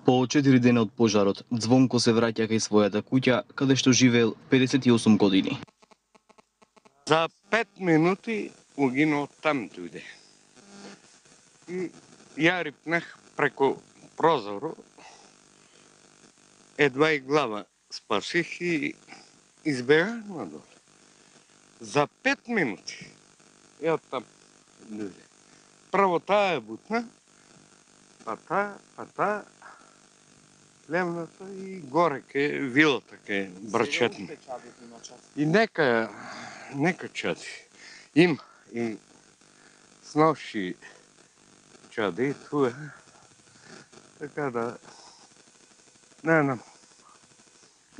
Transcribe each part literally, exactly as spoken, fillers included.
По четири дена од пожарот, Звонко се враќа кај својата куќа, каде што живеел педесет и осум години. За пет минути угинал там дојде. И ја рипнах преку прозору, едва и глава спасих и избегах надолу. За пет минути. Ја там дојде. Прво таа е бутна, па таа, па таа, лемната и горе ке вилата ке брчетна. И нека, нека чади. Има и сноши чади туе. Така да, не знам,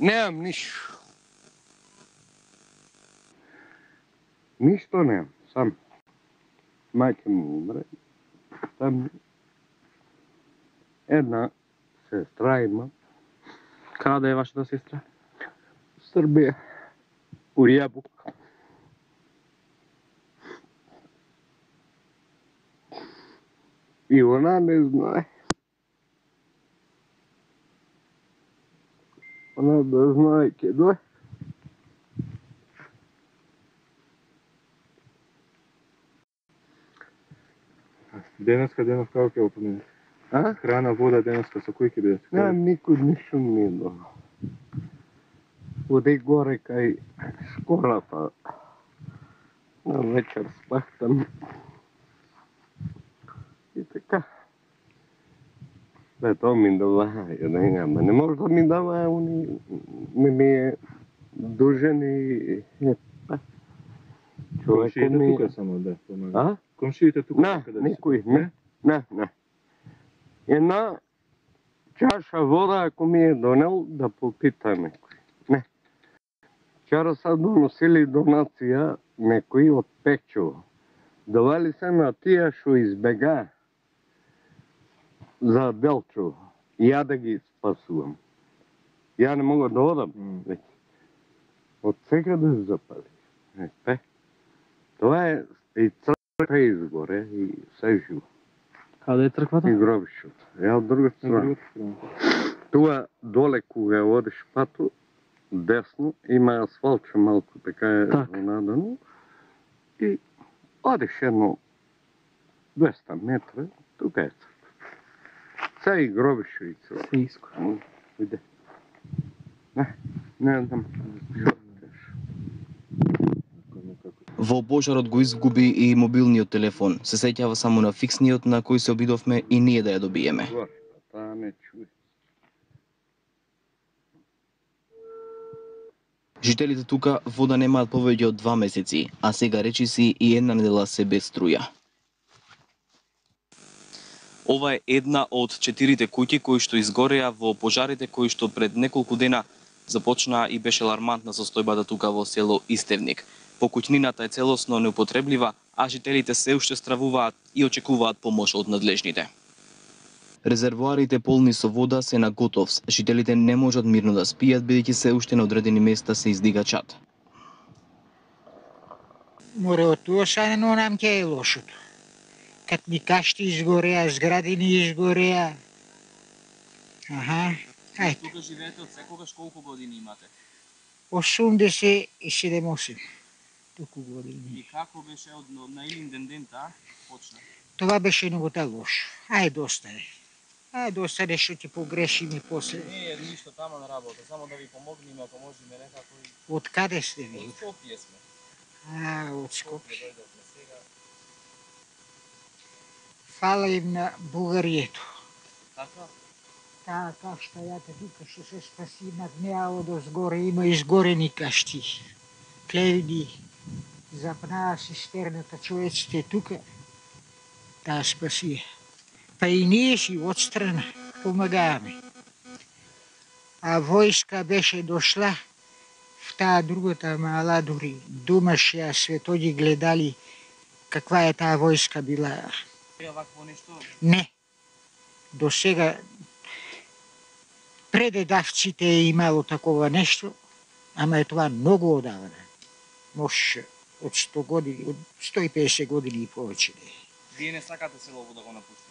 немам ништо. Ништо немам, сам. Мајка му умре, там една сестра има. Каде е вашата сестра? Србија, у Јабук. И она не знае. Она да знае ке дојде. Денеска, денес како ќе го поминете? А? Храна, вода, денеска со кој ќе бидете? Не, никој ништо не е донал. Оди горе кај школата. На вечер спах там. И така. Да, тоа ми даваа, не, ама не може да ми даваа, уни не ми е дужен и... Комшиите ми... тука само да помага. А? Комшиите тука Не, каде никој, не, не, не. Една чаша вода, ако ми е донел, да попита некој. Не. Вчера са доносили донација некој од Печово. Давали се на тие што избега за Делчово. Ја да ги спасувам. Ја не мога да одам. Mm. Од сега да се запали. Епе. Тоа е и црква изгоре и се живо. Каде е црквата? И гробишот. Ја од друга страна. Туа доле кога одиш пату, десно, има асфалтче малку, така е надано. И одиш едно двеста метра, тука е црква. Се и гробише и црква. Се иско. Иде. Не, не знам. Во пожарот го изгуби и мобилниот телефон. Се сеќава само на фиксниот на кој се обидовме и ние да ја добиеме. Таа не чуе. Жителите тука вода немаат повеќе од два месеци, а сега речиси и една недела се без струја. Ова е една од четирите куќи кои што изгореа во пожарите кои што пред неколку дена започнаа и беше алармантна состојбата тука во село Истевник. Покуќнината е целосно неупотреблива, а жителите се уште стравуваат и очекуваат помош од надлежните. Резервоарите полни со вода се на готовс. Жителите не можат мирно да спијат, бидејќи се уште на одредени места се издига чад. Море од тоа са но нам ке е лошото. Кад ни кашти изгореа, зградини изгореа. Аха, ајде. Тука живеете од секогаш, колку години имате? осумдесет и седум-осум. Туку години. И како беше од на илин ден ден таа почна? Това беше многу лошо. Ај доста е. Ај доста нешто ќе погрешиме после. Не е ништо тама на работа, само да ви помогнеме ако можеме некако и... Од каде сте ви? Од Скопје сме. А, од Скопје. Фала им на Бугарието. Така? Таа кашта јата тука што се спаси над неа од озгоре има изгорени кашти. Клевни, запнаа систерната, човеците тука, таа спаси. Па и ние си отстрана помагаваме. А војска беше дошла в таа другата мала дури. Думаш ја светоди гледали каква е таа војска била. Вакво нешто? Не. До сега предедавците е имало такова нешто, ама е тоа многу одавна. Може од сто години, од сто и педесет години и повеќе не. Вие не сакате селово да го напуштите?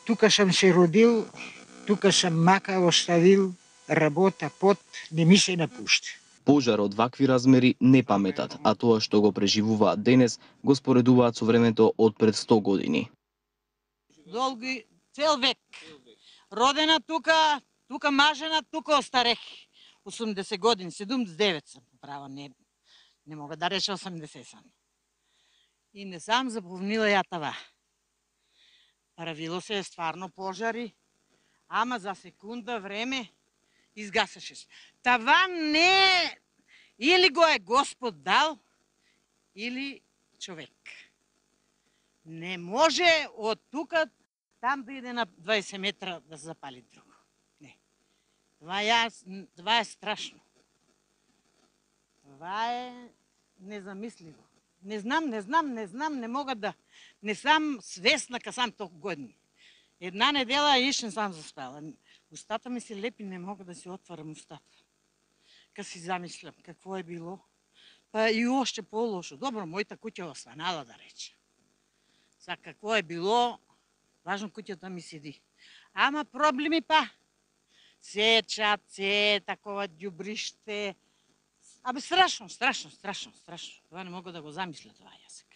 тука сам се родил, тука сам мака оставил, работа, пот, не ми се напушта. Пожар од вакви размери не паметат, а тоа што го преживуваат денес го споредуваат со времето од пред сто години. Долги, цел век. Родена тука, тука мажена, тука остарех. осумдесет години, седумдесет и девет сам, право, не, не мога да рече осумдесет сам. И не сам запомнила ја това. Правило се стварно пожари, ама за секунда време изгасаше се. Това не или го е Господ дал, или човек. Не може од тука там да иде на дваесет метра да се запали друго. Не. Това е, това е страшно. Това е незамисливо. Не знам, не знам, не знам, не мога да... Не сам свесна ка сам толку години. Една недела иш не сам заспала. Устата ми се лепи, не мога да си отварам устата. Ка си замислям какво е било. Па и още по-лошо. Добро, мојата куќа останала, да рече. За какво е било, важно куќата ми седи. Ама проблеми па. Сечат, се, такова ѓубриште. Абе страшно, страшно, страшно, страшно. Това не мога да го замисля това јазик.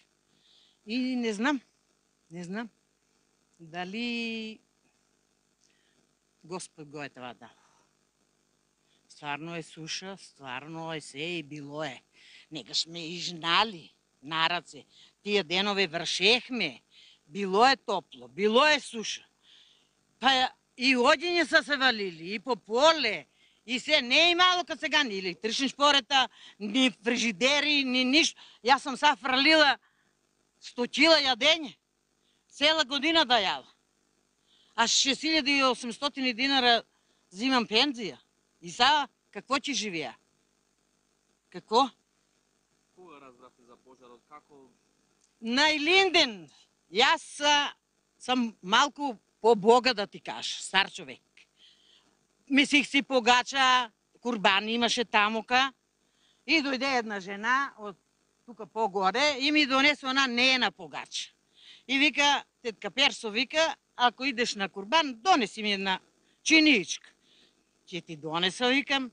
И не знам, не знам дали Господ го е това дал. Стварно е суша, стварно е се и било е. Негаш ме изжнали на раце. Тие денови вршехме. Било е топло, било е суша. Па и одиња са се валили, и по поле, и се не е имало кад сега ни електрични шпорета, ни фрижидери, ни ништо. Јас сам са фралила сто кила јадење. Цела година да јала. А шест илјади и осумстотини динара зимам пензија. И сега какво ќе живеа? Какво? Кога разбравте за пожарот? Како? На Илинден. Јас сам малку по-бога да ти кажа, стар човек. Мислих си погача, курбан имаше тамука и дојде една жена од тука погоре и ми донесе она неена погача. И вика, тетка Персо вика, ако идеш на курбан, донеси ми една чиничка. Ќе ти донеса, викам,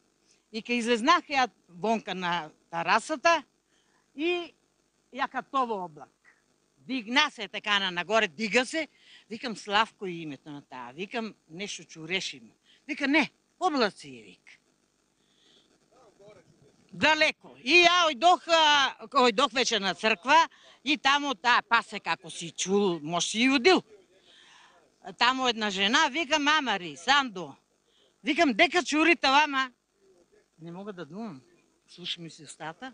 и ка излезнах ја вонка на тарасата и ја катово облак. Дигна се така на нагоре, дига се, викам Славко и името на таа, викам нешто чуреши му. Вика не, облаци е, вика. Далеко. И ја ојдох, ојдох вече на црква и таму таа пасе како си чул, може си јудил. Таму една жена, вика мамари, Сандо. Викам дека чури това, ма. Не мога да думам. Слуша ми се устата.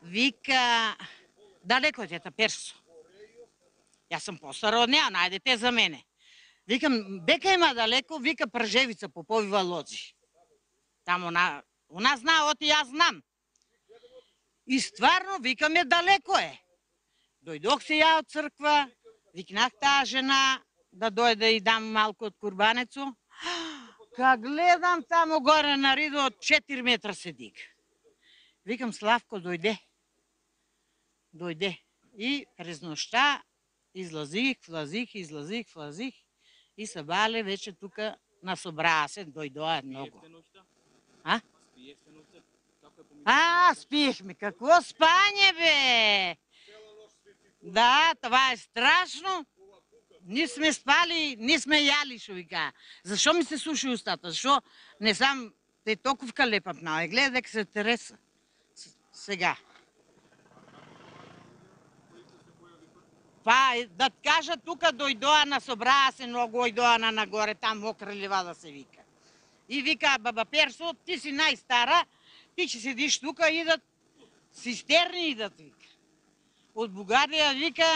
Вика, далеко е тета Персо. Јас сум постара од неа, најдете за мене. Викам, дека има далеко, вика Пржевица, Поповива лози. Таму на... Она знае, оти јас знам. И стварно, викам е далеко е. Дојдох се ја од црква, викнах таа жена да дојде и дам малку од курбанецо. Ка гледам таму горе на ридо од четири метра се дига. Викам, Славко, дојде. Дојде. И през ношта излазих, влазих, излазих, влазих и се бале вече тука на собраа се, дојдоа многу. А? А, спиехме. Какво спање, бе? Да, това е страшно. Ние сме спали, ние сме јали, шо вика. Зашо ми се суши устата? Зашо не сам те токовка лепа пнава? Гледа дека се тереса. Сега. Па, да кажа, тука дојдоа на собраа се, многу ојдоа на нагоре, там мокра ливада се вика. И вика, баба Персо, ти си најстара, ти ќе седиш тука, идат цистерни, идат, вика. Од Бугарија, вика,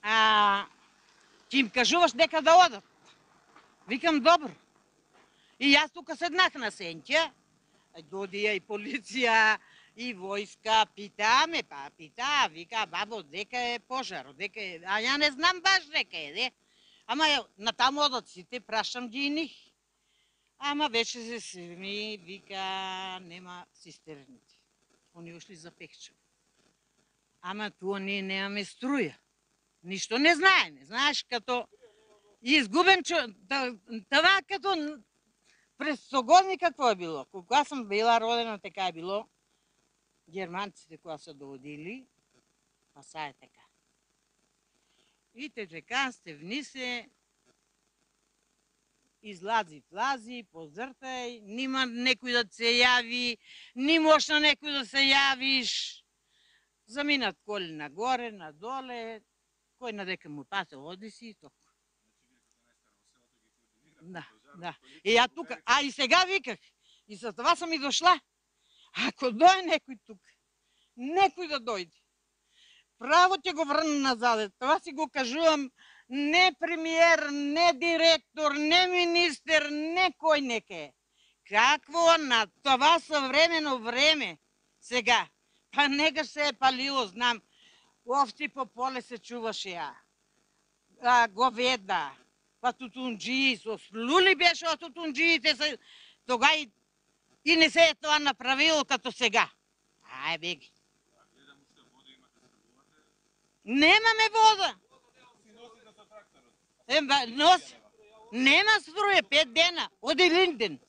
а, ќе им кажуваш дека да одат. Викам, добро. И јас тука седнах на сенќа, додија и полиција, и војска, питаме, па питаа, вика, бабо, дека е пожар, дека е, а ја не знам баш дека е, де. Ама на таму одат сите, прашам ги и нив. Ама вече се семи, вика, нема цистерните. Они ушли за Пехчево. Ама туа ние немаме струја. Ништо не знае, не знаеш като изгубен чо... Това като през стогодни какво е било. Кога съм била родена, така е било. Германците кога са доводили, а са е така. И те така сте внисе, излази, влази, позртай, нима некој да се јави, ни можеш на некој да се јавиш. Заминат коли нагоре, надоле, кој надека му пасе, оди си и толку. Да, да. И ја тука, а и сега виках, и за това съм и дошла. Ако дојде некој тука, некој да дојде, право ќе го врна назад. Това си го кажувам, не премиер, не директор, не министер, не кој неке. Какво на това съвремено време сега? Па нега се е палило, знам. Овци по поле се чуваше ја. А, говеда, па тутунджии, со слули беше од тутунджиите, се... тога и, и не се е тоа направило като сега. Ај, беги. Немаме вода. Е, носи. Нема струја, пет дена, од Илинден.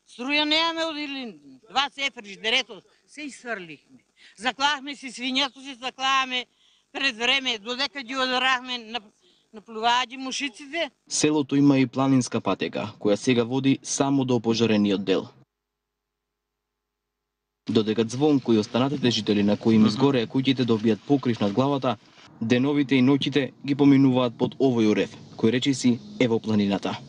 Струја немаме од Илинден. Два се фриждерето, се изсврлихме. Заклахме си свињето, си заклаваме пред време, додека ги одрахме, наплуваат ги мушиците. Селото има и планинска патека, која сега води само до опожарениот дел. Додека Звонко и останатите жители на кои им изгореа куќите добијат покрив над главата, деновите и ноќите ги поминуваат под овој урев, кој речиси е во планината.